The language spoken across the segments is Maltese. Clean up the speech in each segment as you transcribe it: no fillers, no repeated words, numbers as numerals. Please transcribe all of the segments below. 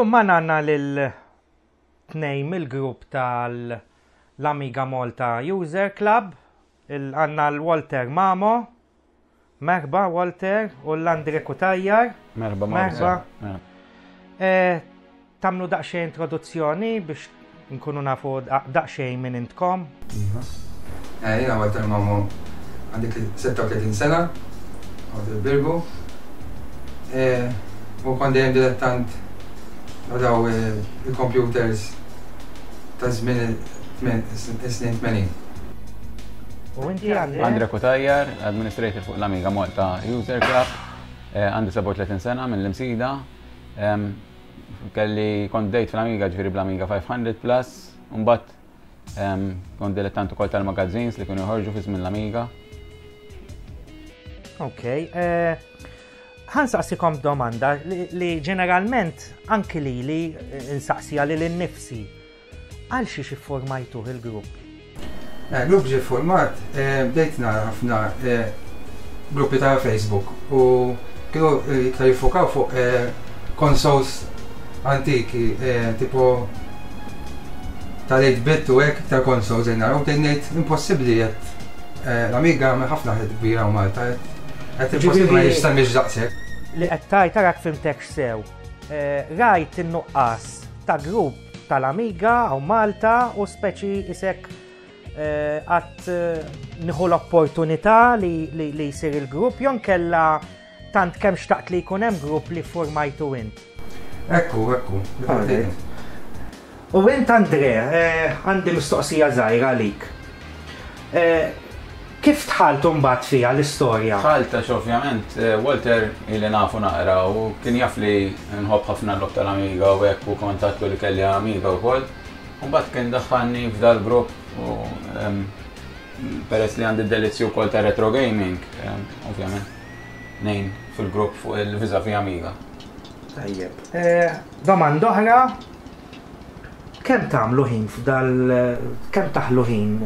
Illum magħna għandna lil tnejn mill-grupp tal-Amiga Malta User Club, għandna l-Walter Mamo, merħba Walter, u l-Andre Cutajar. Merħba Merħba. Eh, tagħmlu daqsxejn introduzzjoni biex nkunu nafu daqsxejn minn intkom. Iva. Eh, jiena Walter Mamo għandi 36 sena, għad il-Birgu. Eh, u kont dejjem dilettant daw il-computers ta' żmien is-snin 80. U inti Andre? Andre Cutajar, administrator fuq l-Amiga Malta User Club, eh, għandi 37 sena mill-Imsida. Kelli kont bdejt fl-Amiga ġifieri bl-Amiga 500 Plus, mbagħad kont dilettant ukoll tal-magazines li kienu joħorġu fi żmien l-Amiga. Ok, eh, ħansaqsikom domanda li ġeneralment anki lili eh, nsaqsija lili nnifsi. Għal xiex iffurmajtuh il-grupp? Eh, grupp ġie format, eh, bdejt nara ħafna eh, gruppi ta' Facebook u kienu iktar jiffokaw fuq consoles antiki, tipo tal-8 bit u hekk iktar consoles nara u bdejt ngħid impossibbli qed l-Amiga għamel ħafna ħed kbira u Malta qed impossibbli ma jistemmix daqshekk. Li qed tgħid tarak fimtek sew. Rajt in-nuqqas ta' grupp tal-Amiga hawn Malta u speċi isek għat nieħu l-opportunità li jsir il-grupp jew kella tant kemm xtaqt li jkun hemm grupp li formajtu int. Ekku, ekku. U int Andre, għandi mistoqsija żgħira għalik. Kif dħalt imbagħad fiha l-istorja? Dħalt għax ovvjament Walter ili nafu naqra u kien jaf li nħobb ħafna l-logħob tal-Amiga u hekk u kont għadtlu li kelli Amiga wkoll. U mbagħad kien daħħalni f'dal-grupp u peress li għandi d-delizzju wkoll ta' retro gaming, ovvjament ngħin fil-grupp fuq il-vis-a-vis Amiga. Tajjeb. Domanda oħra, Kemm tagħmlu ħin f'dal kemm taħlu ħin?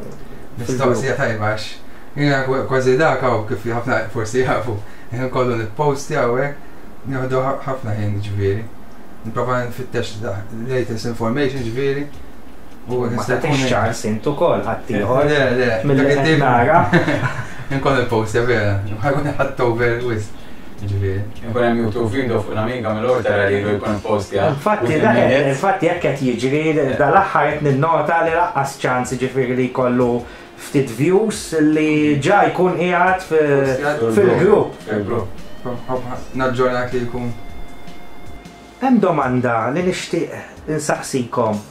Mistoqsija tajba għax jiena kważi dak hawn kif ħafna forsi jafu, ħin kollu nipposti hawnhekk, nieħdu ħafna ħin ġifieri. Nipprova nfittex latest information ġifieri. U ma tagħtix ċans int ukoll ħaddieħor. Le, le, mill-li qed nara. Inkun il-post vera, ħajkun ħadd over wisq. Ġifieri. Ikun hemm YouTube video fuq l-Amiga mill-ewwel tara lilu jkun postja. Infatti, infatti hekk qed jiġri dal-aħħar qed ninnota li laqqas ċans ġifieri li jkollu ftit views li ġa jkun qiegħed fil-grupp. Fil-grupp. Naġġornak li jkun. Hemm domanda li nixtieq insaqsikom.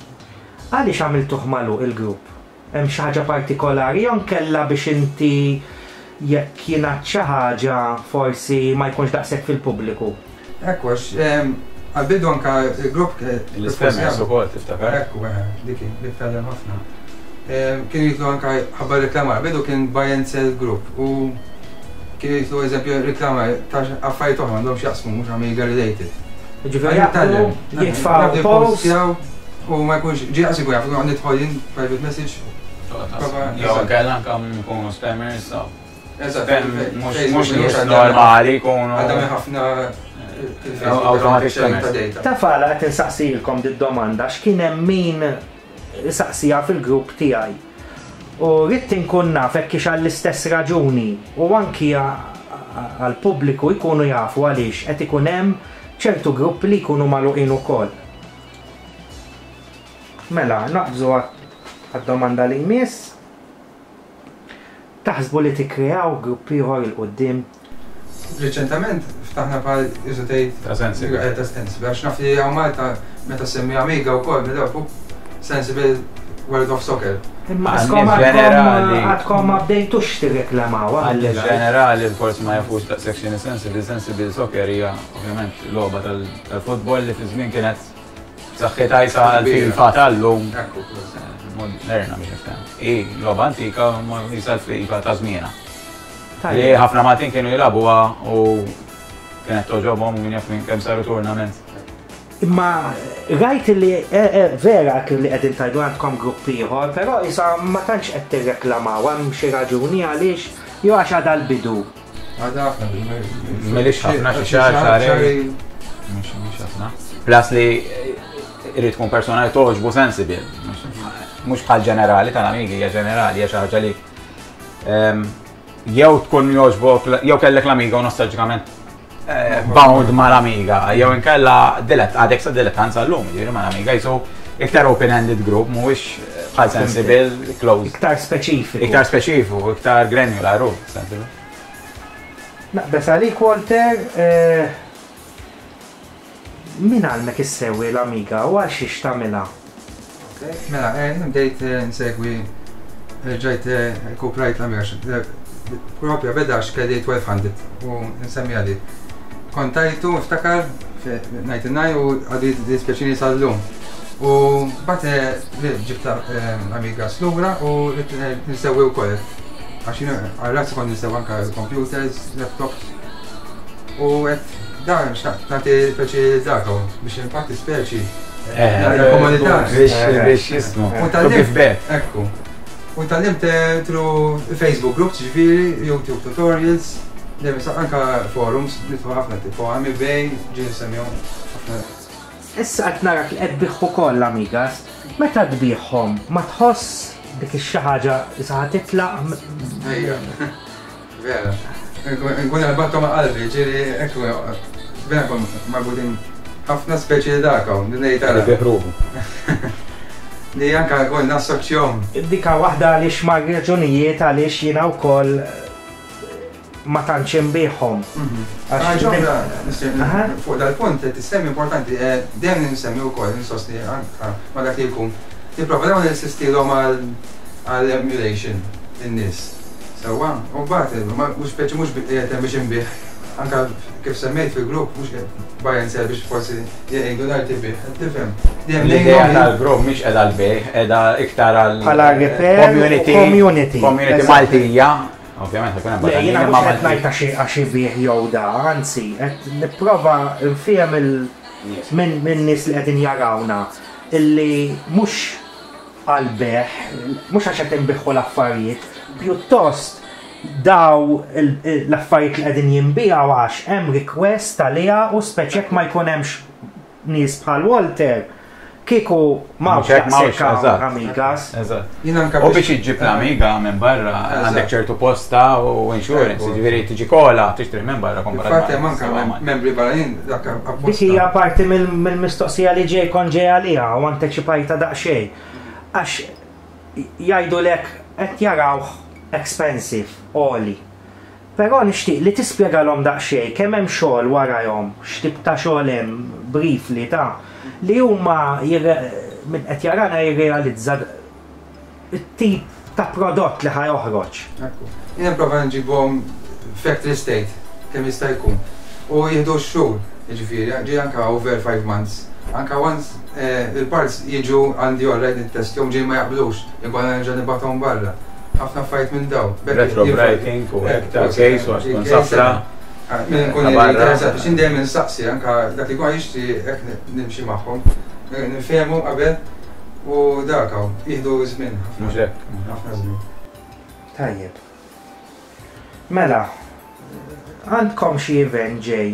Għaliex għamiltuh magħluq il-grupp? Hemm xi ħaġa partikolari jew inkella biex inti jekk jingħad xi ħaġa forsi ma jkunx daqshekk fil-pubbliku? Ekku għax għall-bidu anke l-grupp L-ispammers ukoll tiftakar? Ekku, dik hi, dik tgħallem ħafna. Kienu jidħlu anke ħabba reklamar, bidu kien buy and sell group u kienu jidħlu eżempju reklamar ta' affarijiet oħra m'għandhomx x'jaqsmu mhux Amiga related. Ġifieri jaqblu, jitfgħu post. U ma jkunx, ġi għas ikun jaf, nidħol jien private message. Jew inkella anke nkunu spammers. Mhux nies normali jkunu. Għadha ħafna automatic spammers. Taf għala qed insaqsilkom did-domanda x'kien hemm min saqsija fil-grupp tiegħi. U ridt inkun naf hekk hix għall-istess raġuni u anki għall-pubbliku jkunu jafu għaliex qed ikun hemm ċertu gruppi li jkunu magħluqin ukoll. Mela, naqbżu għad-domanda li jmiss. Taħsbu li tikkreaw grupp ieħor 'il quddiem? Riċentament ftaħna bħal isu tgħid Ta' Sensible. Eh, ta' Sensible, għax naf li hawn Malta meta semmi Amiga wkoll mill-ewwel Sensible World of Soccer. Imma Għan-nies għadkom ġenerali. għadkom ma bdejtux tirreklamaw Għal ġenerali forsi ma jafux daqshekk x'inhi Sensible, Sensible Soccer hija ovvjament logħba tal-futbol li fi żmien kienet b'saħħitha jisa l-FIFA tal-lum. Moderna biex nifhem. I logħba antika ma jisa l-FIFA ta' żmienha. Li ħafna Maltin kienu jilagħbuha u kienet toġobhom u min jaf minn kemm saru tournaments. Imma rajt li eh, eh, vera li qegħdin tajdu għandkom grupp ieħor, però isa ma tantx qed tirreklamaw hemm xi raġuni għaliex jew għax għadha l-bidu. Għadha ħafna. Milix ħafna xi xahar xahrejn. Mhux ħafna. Plus li eh, irid tkun persona li togħġbu sensible. Mhux bħal ġenerali tal-Amiga, hija ġenerali, hija xi ħaġa li jew tkun jogħġbok, jew kellek l-Amiga u nostalġikament bound mal-Amiga, jew inkella dilet, għadek sa dilettant sal-lum, ġifieri mal-Amiga, jisu iktar open-ended group, mhuwiex bħal sensible, closed. Iktar speċifiku. Iktar speċifiku, iktar granular, u sensible. Naqbes għalik, Walter, min għallmek issewwi l-Amiga u għal xiex tagħmilha? Mela, bdejt nsegwi, ġajt rkuprajt l-Amiga, propja beda għax kelli 1200 u nsemmi għadi. Kont tajtu, niftakar, 99 u għadu jiddispjaċini sal-lum. U bat ġibta l-Amiga slura u nsewwi wkoll. Għax għal-razz kont nsewwi anka computers, laptops. U għedt dan xtaqt nagħti speċi dak biex infatti speċi. Komunità. Biex jismu. U tal-lim. Ekku. U tal-lim through Facebook groups, ġifieri, YouTube tutorials, dejjem anka forums, nitfu ħafna tipo Amibay, ġie nsemmihom ħafna. Issa qed narak li qed tbigħ ukoll Amigas. Meta tbigħhom ma tħoss dik ix-xi ħaġa issa ħa titlaq? Ejja. Vera. Nkun għalbattom ma' qalbi, ġieli ekku, vera nkun marbutin ħafna speċi li dak hawn, li ngħid ara. Li ruħu. Li anka nkun nassoċjhom. Dika waħda għaliex ma' raġunijiet għaliex jiena wkoll ma tantx inbiegħhom. Għax fuq dal-punt li tissemmi importanti, dejjem nsemmi wkoll insostni anka ma' dak li jkun. Nipprova dawn insistilhom għal emulation in-nies. Sewwa, u mbagħad mhux speċi mhux qiegħed hemm biex inbigħ, anka kif semmejt fil-grupp mhux qiegħed buy and sell biex forsi jgħidu l-arti bih, qed tifhem. Dejjem L-idea tal-grupp mhix qiegħda għall-bejgħ, qiegħda iktar għal Bħala repair u community, community. community Maltija. Ovvjament, ħa jkun hemm Le, jiena barranin, mhux imma qed Maltin. ngħid għax ibigħ jew da, anzi, qed nipprova nfiehem minn nies li qegħdin jarawna illi mhux għall-bejgħ, mhux għax qed inbiħħu l-affarijiet, pjuttost daw l-affarijiet li qegħdin jinbiegħu għax hemm request għaliha u speċi jekk ma jkun hemmx nies bħal Walter, kieku m'hawnx Mhux hekk, m'hawnx, daqshekk hawn eżatt. Amigas. Eżatt. Jien anka U biex iġġib l-Amiga minn barra għandek ċertu posta u insurance, jiġifieri tiġi kola tixtri minn barra komparat Infatti hemm anka membri barranin dak apposta. Dik hija parti mill-mistoqsija li ġej kont ġej għaliha u anteċipajta daqsxejn. Għax jgħidulek qed jarawh expensive, għoli. Però nixtieq li tispjegalhom daqsxejn kemm hemm xogħol warajhom, x'tip ta' xogħol hemm, briefly ta' li huma min qed jarana jirrealizza t-tip ta' prodott li ħa joħroġ. Ekku. Jien nipprova nġibhom factory state kemm jista' jkun. U jieħdu x-xhur, jiġifieri, ġie anka over 5 months. Anka once il-parts jiġu għandi alright nittestjhom ġej ma jaqblux, inkun nerġa' nibgħathom barra. Ħafna affarijiet minn daw. Retro brighting u hekk ta' case u għax tkun safra. Minn nkun interessat biex dejjem insaqsi anka dak li jkun jixtri hekk nimxi magħhom. Nifhemu qabel u dak hawn jieħdu żmien. Mhux hekk. Ħafna żmien. Tajjeb. Mela, għandkom xi event ġej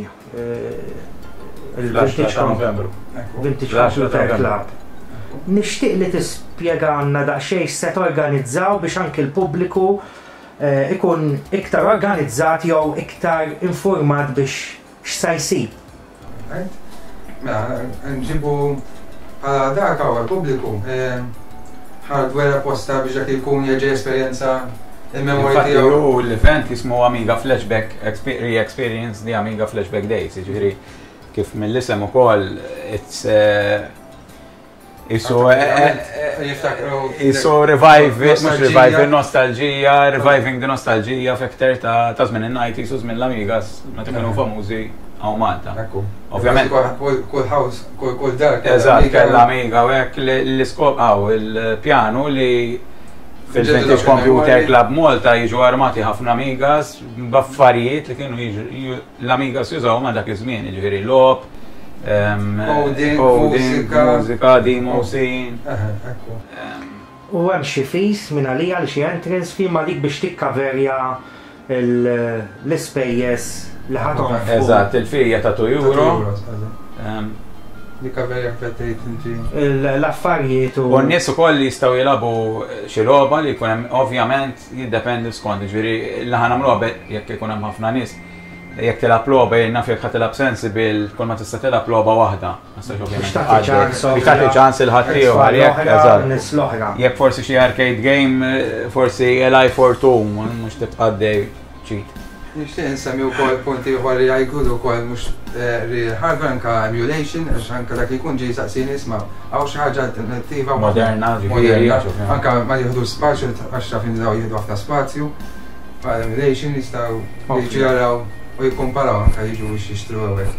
il-Vintage ta' Novembru. Vintage Computer Club. Nixtieq li tispjegana daqsxejn se torganizzaw biex anki l-pubbliku ikun iktar organizzat jew iktar informat biex x'sa jsib. Mela, nġibu bħala dak hawn għall-pubbliku hardware apposta biex dak jkun jerġa' esperjenza il-memorja tiegħu. Hu l-event jismu Amiga Flashback Re-Experience the Amiga Flashback Days, jiġifieri kif mill-isem ukoll it's Isu isu revive, mhux revive, nostalġija, reviving the nostalġija fekter ta' żmien in-90s u żmien l-Amigas meta kienu famużi hawn Malta. Ovvjament. Kull house, kull dar. Eżatt, kellha Amiga u hekk l-iskop hawn il-pjanu li fil-Vintage Computer Club Malta jiġu armati ħafna Amigas b'affarijiet li kienu l-Amigas jużaw ma' dak iż-żmien, jiġifieri logħob, coding, mużika, demo scene. U hemm xi fees minn għalija li xi entrance fee ma dik biex tikkaverja l-ispejjeż li ħatom. Eżatt, il-fee hija ta' 2 euro. Recovery anke tgħid inti. L-affarijiet u. U n-nies ukoll jistgħu jilagħbu xi logħba li jkun hemm ovvjament jiddependi skont, ġifieri li ħa nagħmluha jekk ikun hemm ħafna nies. Jekk tilgħab logħba jien naf jekk ħa tilgħab Sensible kull ma tista' tilgħab logħba waħda. Biex tagħti ċans. Biex tagħti ċans il ħaddieħor jekk eżatt. Jekk forsi xi arcade game, forsi Life or 2, mhux tibqa' dej cheat. Nixtieq insemmi wkoll punt ieħor li jgħidu wkoll mhux real hardware anka emulation għax anka dak li jkun ġie jsaqsini isma' hawn xi ħaġa alternattiva moderna, ġifieri, anka ma jieħdu spazju għax taf inti dawn jieħdu ħafna spazju. Bħal emulation jistgħu jiġu jaraw u jikkumparaw anka jiġu biex jixtru hawnhekk.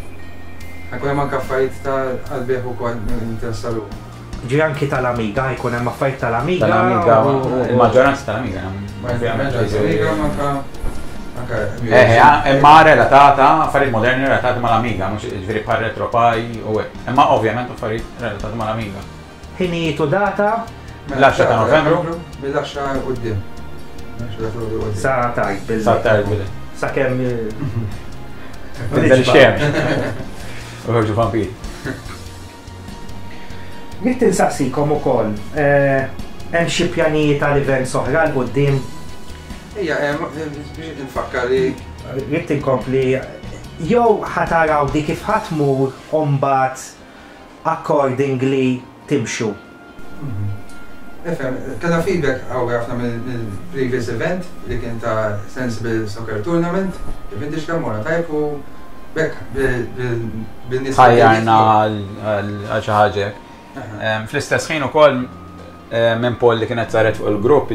Ħa jkun hemm anke affarijiet ta' għall-bejgħ ukoll interessa ruħu. Ġi anki tal-Amiga, jkun hemm affarijiet tal-Amiga. Tal-Amiga, il-maġġoranza tal-Amiga. Tal-Amiga manka Eh, eh, imma relatata, affarijiet moderni relatati mal-Amiga, mhux ġifieri bħal RetroPie u hekk. Imma ovvjament affarijiet relatati mal-Amiga. Ħinijiet u data? L-10 ta' Novembru. Mill-10 quddiem. Sa tard bil. Sa tard bil. Sa kemm. Tinżel ix-xemx. U ħorġu vampiri. Ridt insaqsikom ukoll, hemm xi pjanijiet għal events oħra 'l quddiem? Ejja, biex infakkar li. Ridt inkompli, jew ħa taraw di kif ħa tmur u mbagħad accordingly timxu? Nifhem, kellna feedback qawwi ħafna mill-previous event li kien ta' Sensible Soccer Tournament, il-Vintage Club morna tajjeb u b'hekk bin-nies. Ħajjarna għal xi ħaġa hekk. Fl-istess ħin ukoll minn poll li kienet saret fuq il-grupp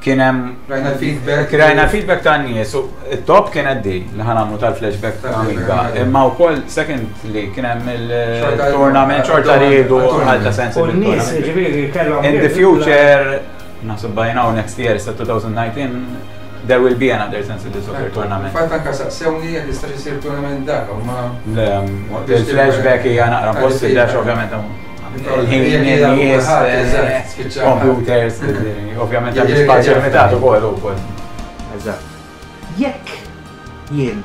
kien hemm Rajna l-feedback. Rajna l-feedback ta' nies u it-top kienet di li ħa nagħmlu tal-flashback ta' Amiga. Imma wkoll second li kien hemm il-tournament xorta riedu għal ta' sens. U n-nies ġifieri kellhom. In the future, naħseb by now next year, sa 2019, there will be another Sensible Soccer tournament. Fatt anka saqsewni jekk jistax isir tournament dak, ma. Il-flashback hija naqra possibbli għax ovvjament Il-ħin, nies, computers, ovvjament hemm spazju limitat ukoll ukoll. Eżatt. Jekk jien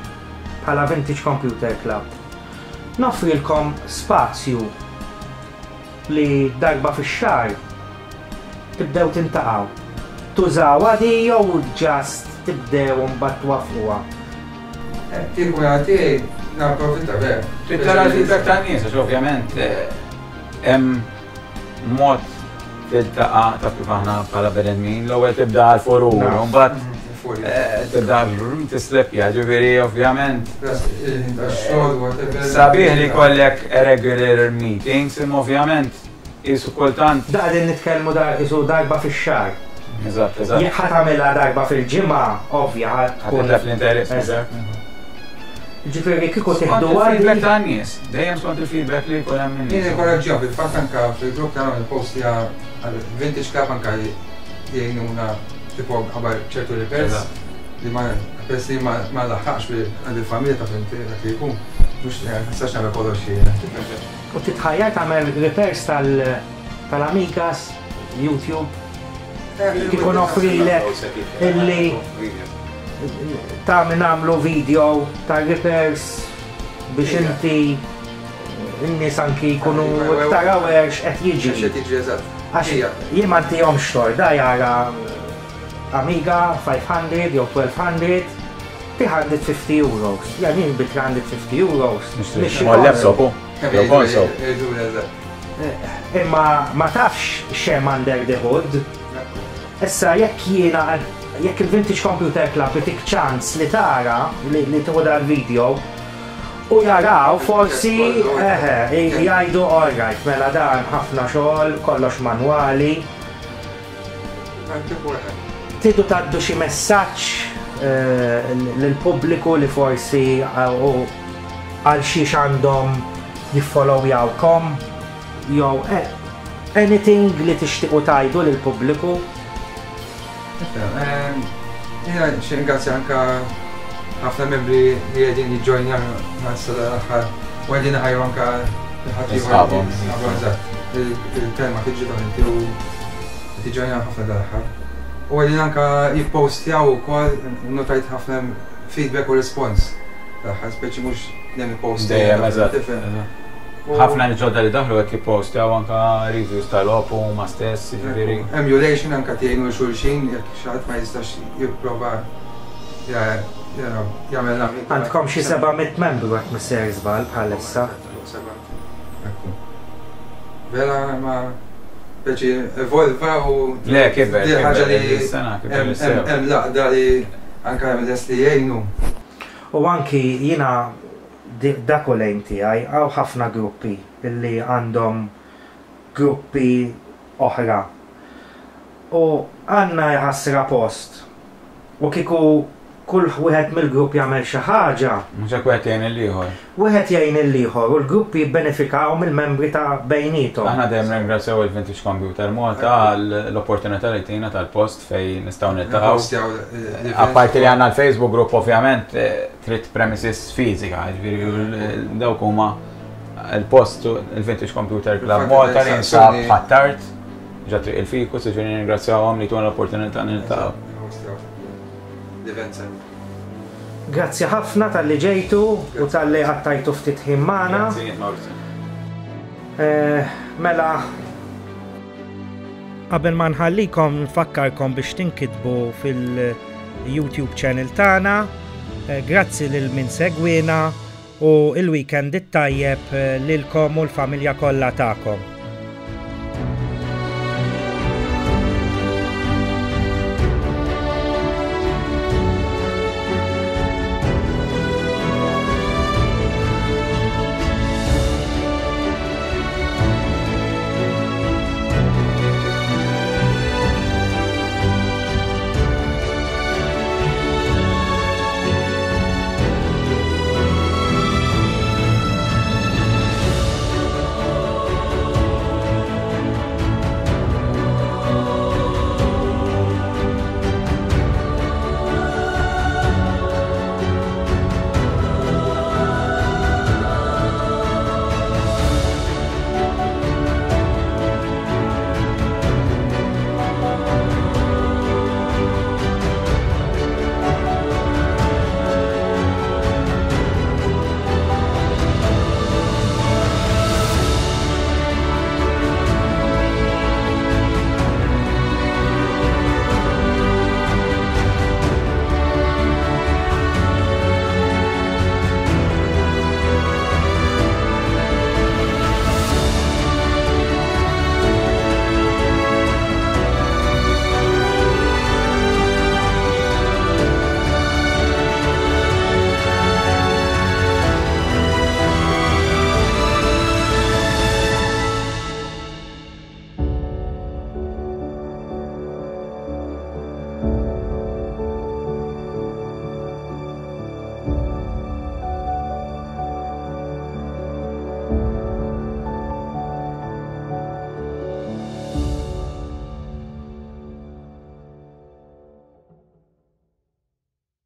bħala Vintage Computer Club noffrilkom spazju li darba fix-xahar tibdew tintaqgħu, tużawha di jew just tibdew u mbagħad twaffquha? Kieku minn tiegħi napprofitta vera. Trid tara l-feedback tan-nies għax ovvjament hemm mod tiltaqa' taf kif aħna bħala bnedmin, l-ewwel tibda għall-furur, u mbagħad tibda tisleppja, ġifieri ovvjament. Sabiħ li jkollek regular meetings, imma ovvjament Qisu kultant. Da qegħdin nitkellmu da qisu darba fix-xahar. Eżatt, eżatt. Jekk ħa tagħmilha darba fil-ġimgħa, ovvja ħa tkun. Ħa titlef l-interess, eżatt. Ġifieri kieku tieħdu għal. Feedback tan-nies, dejjem skont il-feedback li jkun hemm min-nies. Jien inkoraġġihom fil-fatt anke fil-grupp tagħna nipposti għal Vintage Club anke jgħinuna tipo qabel ċertu repairs li ma peress li ma laħaqx għand il-familja ta' inti dak li jkun mhux nistax nagħmel kollox jiena. U titħajjar tagħmel repairs tal-Amigas, YouTube? Kieku noffrilek illi tagħmel nagħmlu video tar-repairs biex inti n-nies anki jkunu iktar aware x'qed jiġri. X'qed jiġri eżatt. Għax jien ma ntihomx tort, da jara Amiga 500 jew 1200 350 euros. Jan jien bi 350 euros. Nixtri laptop u. Jew console. Imma ma tafx x'hemm under the hood. Issa jekk jiena jekk il-Vintage Computer Club itik ċans li tara li tieħu dal-video u jaraw forsi eħe jgħidu all right mela dan ħafna xogħol, kollox manwali. Tridu tgħaddu xi messaġġ lill-pubbliku li forsi għal xiex għandhom jiffollowjawkom jew anything li tixtiequ tgħidu lill-pubbliku? Jiena nixtieq ringrazzja anke ħafna membri li qegħdin jiġġojnjaw issa dal-aħħar u qegħdin iħajru anke Sħabhom. Il-kelma tiġi ta' inti u tiġġojnjaw ħafna dal-aħħar. U qegħdin anke jippostjaw ukoll notajt ħafna feedback u response. L-aħħar speċi mhux. dejjem ipostja. Dejjem, eżatt. Ħafna li ġodda li daħlu qed jippostjaw anka reviews tal-logħob huma stess, jiġifieri. Emulation anka tgħinu 'l xulxin jekk xi ħadd ma jistax jipprova jagħmel l-Amiga. Għandkom xi 700 membru jekk mhux sejjer żball bħalissa. Vera ma speċi evolva u Le, kiber. Di ħaġa li hemm l-għaqda li anka hemm lest li jgħinu. U anki jiena dak hu l-aim tiegħi, hawn ħafna gruppi li għandhom gruppi oħra. U għandna jħassra post. U kieku kull wieħed mill-grupp jagħmel xi ħaġa. Mhux hekk wieħed jgħin lill-ieħor. Wieħed jgħin lill-ieħor u l-gruppi jibbenefikaw mill-membri ta' bejniethom. Aħna dejjem nirringrazzjaw il-Vintage Computer Malta għall-opportunità li tina tal-post fejn nistgħu niltaqgħu. Apparti li għandna l-Facebook group ovvjament trid premises fiżika, jiġifieri dawk huma l-post il-Vintage Computer Club Malta li jinsab Ħ'Attard, ġo Triq il-Fikus, jiġifieri nirringrazzjawhom li tuna l-opportunità niltaqgħu. Grazzi ħafna talli ġejtu u talli qattajtu ftit ħin magħna. Grazzi, Mawrizio. Eh, mela, qabel ma nħallikom nfakkarkom biex tinkitbu fil-YouTube channel tagħna. Eh, grazzi lil min segwina u il-weekend it-tajjeb eh, lilkom u l-familja kollha tagħkom.